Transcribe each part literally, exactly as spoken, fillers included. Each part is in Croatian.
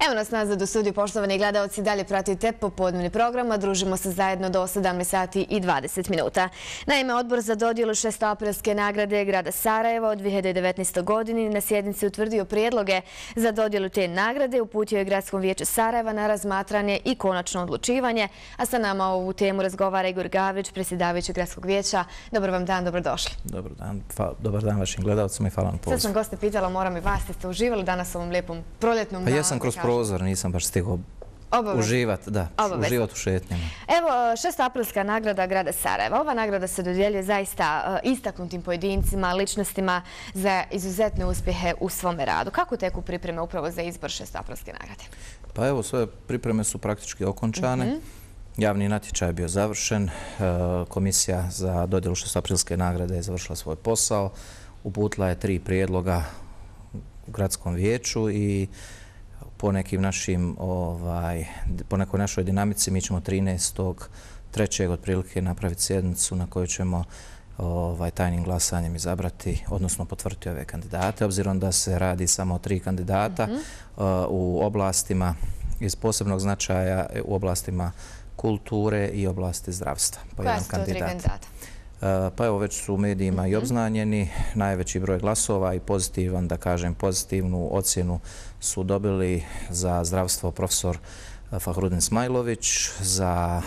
Evo nas nazad u studiju, poštovani gledalci, dalje pratite popodnevni program, a družimo se zajedno do sedamnaest sati i dvadeset minuta. Naime, Odbor za dodjelu šestoaprilske nagrade grada Sarajeva od dve hiljade devetnaeste. godine na sjednici utvrdio prijedloge za dodjelu te nagrade, uputio je Gradskom vijeću Sarajeva na razmatranje i konačno odlučivanje, a sa nama ovu temu razgovara Igor Gavrić, predsjedavajući Gradskog vijeća. Dobar vam dan, dobrodošli. Dobar dan, dobar dan vašim gledalcima i hvala na pozivu. Sad sam goste pitala, moram i vas, ste uživali danas u ovom lijepom proljetnom danu? Pa jesam kroz prozor, nisam baš stigao uživati, da, uživati u šetnjama. Evo, šestoaprilska nagrada grada Sarajeva. Ova nagrada se dodjeljuje zaista istaknutim pojedincima, ličnostima za izuzetne uspjehe u svome radu. Kako teku pripreme upravo za izbor šestoaprilske nagrade? Pa evo, sve pripreme su praktički okončane. Javni natječaj je bio završen. Komisija za dodjelu šestoaprilske nagrade je završila svoj posao. Uputila je tri prijedloga u Gradskom vijeću i po nekim našim, po nekoj našoj dinamici mi ćemo trinaestog trećeg otprilike napraviti sjednicu na kojoj ćemo tajnim glasanjem izabrati, odnosno potvrditi ove kandidate, obzirom da se radi samo o tri kandidata u oblastima iz posebnog značaja, u oblastima kulture i oblasti zdravstva. Koja su to tri kandidata? Pa evo, već su u medijima i obznanjeni. Najveći broj glasova i pozitivan, da kažem, pozitivnu ocjenu su dobili za zdravstvo profesor Fahrudin Smajlović, za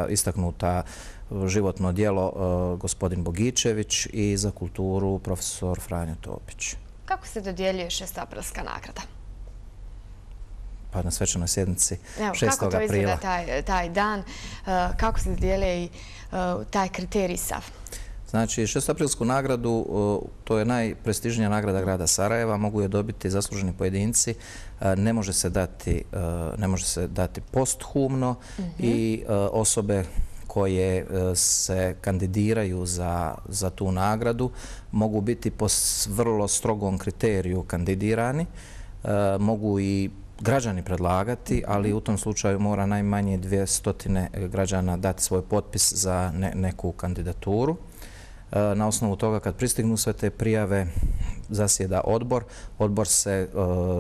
istaknuta životno djelo gospodin Bogičević i za kulturu profesor Franjo Topić. Kako se dodjeljuje šestoaprilska nagrada? Pa na svečanoj sjednici šestog aprila. Kako to izgleda taj dan? Kako se dodjeljuje i taj kriterij sav? Znači, šestoaprilsku nagradu, to je najprestižnija nagrada grada Sarajeva, mogu je dobiti zasluženi pojedinci, ne može se dati, ne može se dati posthumno i osobe koje se kandidiraju za, za tu nagradu mogu biti po vrlo strogom kriteriju kandidirani, mogu i građani predlagati, ali u tom slučaju mora najmanje dvjesto građana dati svoj potpis za neku kandidaturu. Na osnovu toga, kad pristignu sve te prijave, zasjeda odbor. Odbor se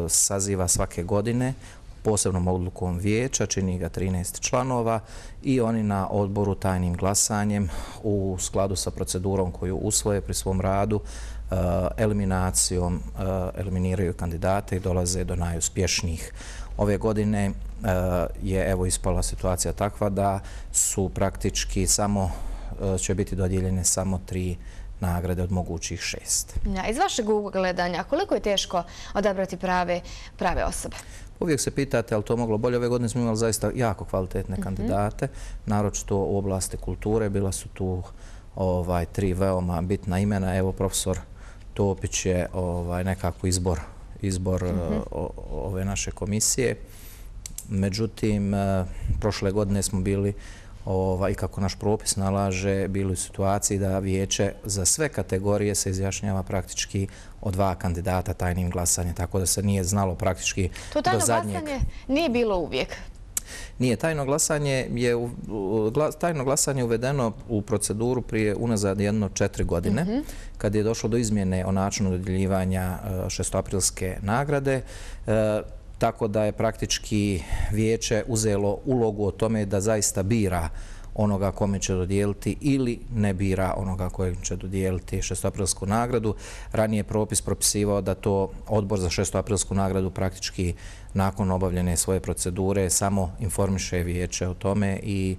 saziva svake godine posebnom odlukom vijeća, čini ga trinaest članova i oni na odboru tajnim glasanjem u skladu sa procedurom koju usvoje pri svom radu eliminacijom eliminiraju kandidate i dolaze do najuspješnijih. Ove godine je evo ispala situacija takva da su praktički samo će biti dodijeljene samo tri nagrade od mogućih šest. Iz vašeg ugledanja, koliko je teško odabrati prave, prave osobe? Uvijek se pitate, ali to moglo bolje. Ove godine smo imali zaista jako kvalitetne kandidate, naročito u oblasti kulture. Bila su tu ovaj, tri veoma bitna imena. Evo, profesor Topić je ovaj, nekako izbor, izbor mm-hmm. o, ove naše komisije. Međutim, prošle godine smo bili i kako naš propis nalaže, bili u situaciji da vijeće za sve kategorije se izjašnjava praktički o dva kandidata tajnim glasanjem, tako da se nije znalo praktički do zadnjeg. To tajno glasanje nije bilo uvijek? Nije. Tajno glasanje je, tajno glasanje uvedeno u proceduru prije unazad jedno četiri godine, kad je došlo do izmjene o načinu dodjeljivanja šestoaprilske nagrade. Tako da je praktički vijeće uzelo ulogu o tome da zaista bira onoga kome će dodijeliti ili ne bira onoga kojem će dodijeliti šestoaprilsku nagradu. Ranije propis propisivao da to odbor za šestoaprilsku nagradu praktički nakon obavljene svoje procedure samo informiše vijeće o tome i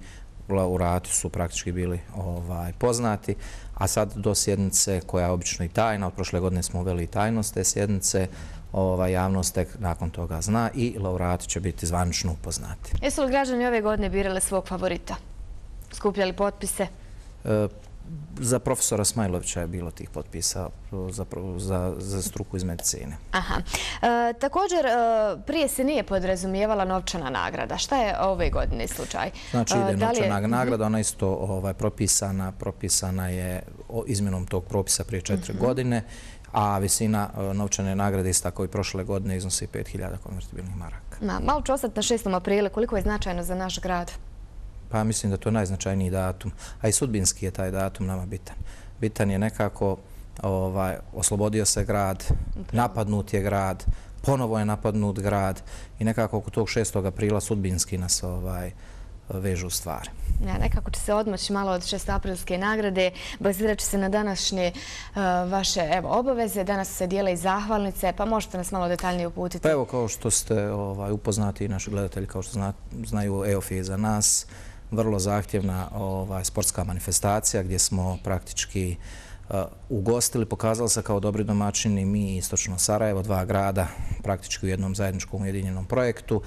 laureati su praktički bili ovaj, poznati. A sad do sjednice koja je obično i tajna, od prošle godine smo uveli i tajnost te sjednice, Ova javnost tek nakon toga zna i laureati će biti zvanično upoznati. Jesu li građani ove godine birali svog favorita? Skupljali potpise? E, za profesora Smajlovića je bilo tih potpisa za, za, za struku iz medicine. Aha. E, također, prije se nije podrazumijevala novčana nagrada. Šta je ove godine slučaj? Znači, ide da novčana je... nagrada, ona isto ovaj, propisana, propisana je izmjenom tog propisa prije četiri uh-huh. godine, a visina novčane nagrade isto tako i prošle godine iznosi pet hiljada konvertibilnih maraka. Na, malo ću ostati na šestom aprilu. Koliko je značajno za naš grad? Pa mislim da to je najznačajniji datum, a i sudbinski je taj datum nama bitan. Bitan je nekako, ovaj, oslobodio se grad, napadnut je grad, ponovo je napadnut grad i nekako oko tog šestog aprila sudbinski nas ovaj, vežu stvari. Ja, nekako će se odmoći malo od šestoaprilske nagrade, bazirat će se na današnje uh, vaše evo, obaveze. Danas se dijele i zahvalnice, pa možete nas malo detaljnije uputiti. Pa evo, kao što ste ovaj, upoznati i naši gledatelji, kao što zna, znaju, E O F je za nas vrlo zahtjevna ovaj, sportska manifestacija gdje smo praktički uh, ugostili, pokazali se kao dobri domaćini mi i Istočno Sarajevo, dva grada, praktički u jednom zajedničkom ujedinjenom projektu. Uh,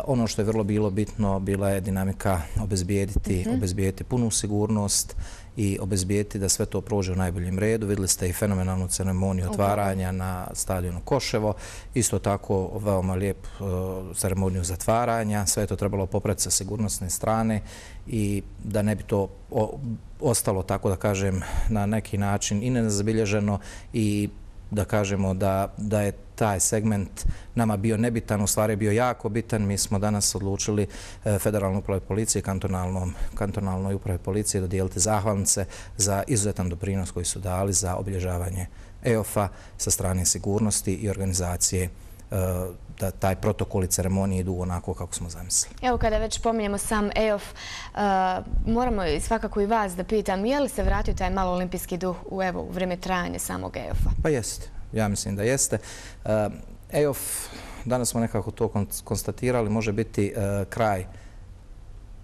ono što je vrlo bilo bitno bila je dinamika obezbijediti, mm-hmm. obezbijediti punu sigurnost i obezbijediti da sve to prođe u najboljem redu. Vidjeli ste i fenomenalnu ceremoniju otvaranja na stadionu Koševo. Isto tako veoma lijep uh, ceremoniju zatvaranja. Sve je to trebalo popraviti sa sigurnosne strane i da ne bi to o, ostalo, tako da kažem, na neki način i nezabilježeno i da kažemo da, da je taj segment nama bio nebitan, u stvari bio jako bitan. Mi smo danas odlučili Federalnoj upravi policije i kantonalnoj upravi policije dodijeliti zahvalnice za izuzetan doprinos koji su dali za obilježavanje E O F-a sa strane sigurnosti i organizacije, da taj protokol i ceremonije idu onako kako smo zamislili. Evo, kada već pominjemo sam E O F, uh, moramo svakako i vas da pitam, je li se vratio taj malo olimpijski duh u, evo, u vrijeme trajanja samog E O F-a? Pa jeste, ja mislim da jeste. Uh, E O F, danas smo nekako to konstatirali, može biti uh, kraj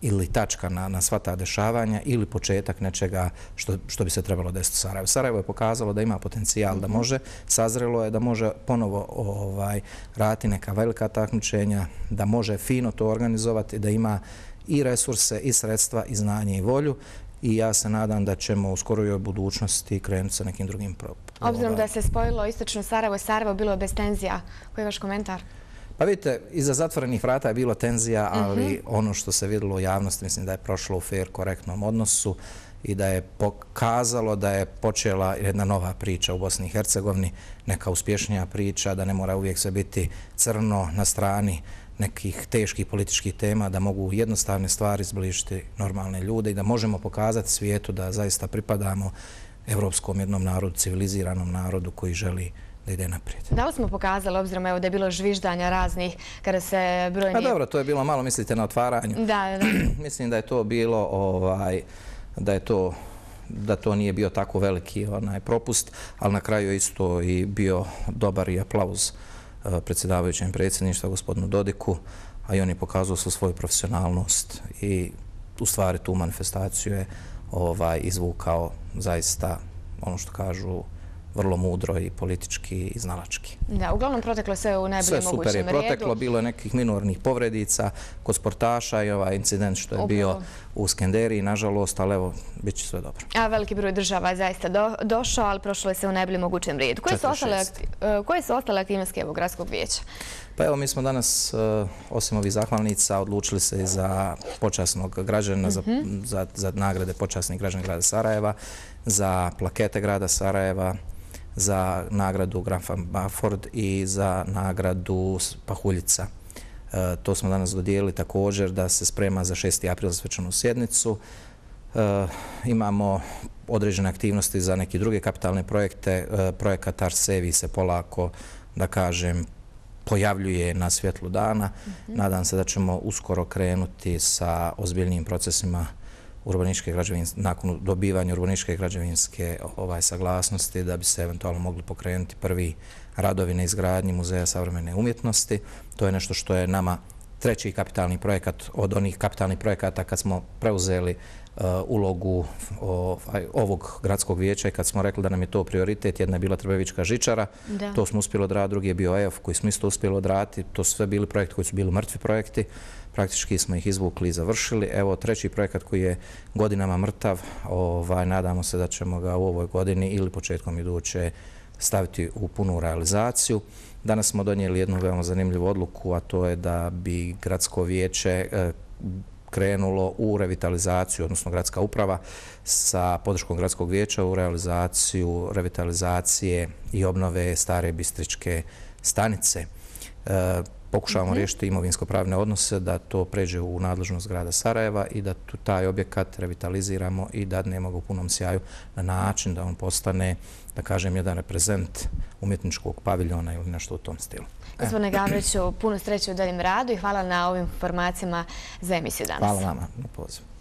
ili tačka na, na sva ta dešavanja ili početak nečega što, što bi se trebalo desiti u Sarajevu. Sarajevo je pokazalo da ima potencijal, da može, sazrelo je da može ponovo ovaj, raditi neka velika takmičenja, da može fino to organizovati, da ima i resurse, i sredstva, i znanje, i volju. I ja se nadam da ćemo u skorijoj budućnosti krenuti sa nekim drugim problemom. Obzirom da se spojilo Istočno Sarajevo i Sarajevo, bilo je bez tenzija. Koji je vaš komentar? Pa vidite, iza zatvorenih vrata je bilo tenzija, ali ono što se vidjelo u javnosti, mislim da je prošlo u fair, korektnom odnosu i da je pokazalo da je počela jedna nova priča u Bosni i Hercegovini, neka uspješnija priča, da ne mora uvijek sve biti crno na strani nekih teških političkih tema, da mogu jednostavne stvari zbližiti normalne ljude i da možemo pokazati svijetu da zaista pripadamo evropskom jednom narodu, civiliziranom narodu koji želi da ide naprijed. Da li smo pokazali, obzirom evo, da je bilo žviždanja raznih kada se brojni... Pa dobro, to je bilo malo, mislite, na otvaranju. Da, da. Mislim da je to bilo, ovaj, da je to, da to nije bio tako veliki onaj propust, ali na kraju je isto i bio dobar i aplauz uh, predsjedavajućem predsjedništva, gospodinu Dodiku, a i on je pokazao su svoju profesionalnost i u stvari tu manifestaciju je ovaj, izvukao zaista, ono što kažu, vrlo mudro i politički i znalački. Da, uglavnom proteklo sve u najboljem mogućem redu. Sve super je proteklo, bilo je nekih minornih povredica kod sportaša i ovaj incident što je bio u Skenderiji, nažalost, ali evo, bit će sve dobro. A veliki broj država je zaista do, došao, ali prošlo je sve u najboljem mogućem redu. Koje su ostale, akti, koje su ostale aktivnosti evo, gradskog vijeća? Pa evo, mi smo danas, osim ovih zahvalnica, odlučili se za počasnog građana, mm-hmm. za, za, za nagrade počasnih građana grada Sarajeva, za plakete grada Sarajeva, za nagradu Granfam Baford i za nagradu Pahuljica. E, to smo danas dodijelili također da se sprema za šesti april za svečanu sjednicu. E, imamo određene aktivnosti za neke druge kapitalne projekte. E, projekat Arsevi se polako, da kažem, pojavljuje na svjetlu dana. Mm-hmm. Nadam se da ćemo uskoro krenuti sa ozbiljnijim procesima urbanističke građevinske, nakon dobivanja urbanističke građevinske ovaj, saglasnosti da bi se eventualno mogli pokrenuti prvi radovi na izgradnji Muzeja savremene umjetnosti. To je nešto što je nama treći kapitalni projekat od onih kapitalnih projekata kad smo preuzeli uh, ulogu ovaj, ovog gradskog vijeća i kad smo rekli da nam je to prioritet. Jedna je bila Trbevička žičara, da. To smo uspjeli odraditi, drugi je bio E O F koji smo isto uspjeli odraditi. To su sve bili projekti koji su bili mrtvi projekti. Praktički smo ih izvukli i završili. Evo, treći projekat koji je godinama mrtav, ovaj, nadamo se da ćemo ga u ovoj godini ili početkom iduće staviti u punu realizaciju. Danas smo donijeli jednu veoma zanimljivu odluku, a to je da bi gradsko vijeće eh, krenulo u revitalizaciju, odnosno gradska uprava sa podrškom gradskog vijeća u realizaciju revitalizacije i obnove stare Bistričke stanice. Eh, pokušavamo riješiti imovinsko-pravne odnose, da to pređe u nadležnost grada Sarajeva i da tu taj objekat revitaliziramo i dadnemo ga u punom sjaju na način da on postane, da kažem, jedan reprezent umjetničkog paviljona ili nešto u tom stilu. Gospodine Gavriću, puno sreće u daljem radu i hvala na ovim informacijama za emisiju danas. Hvala vama na pozivu.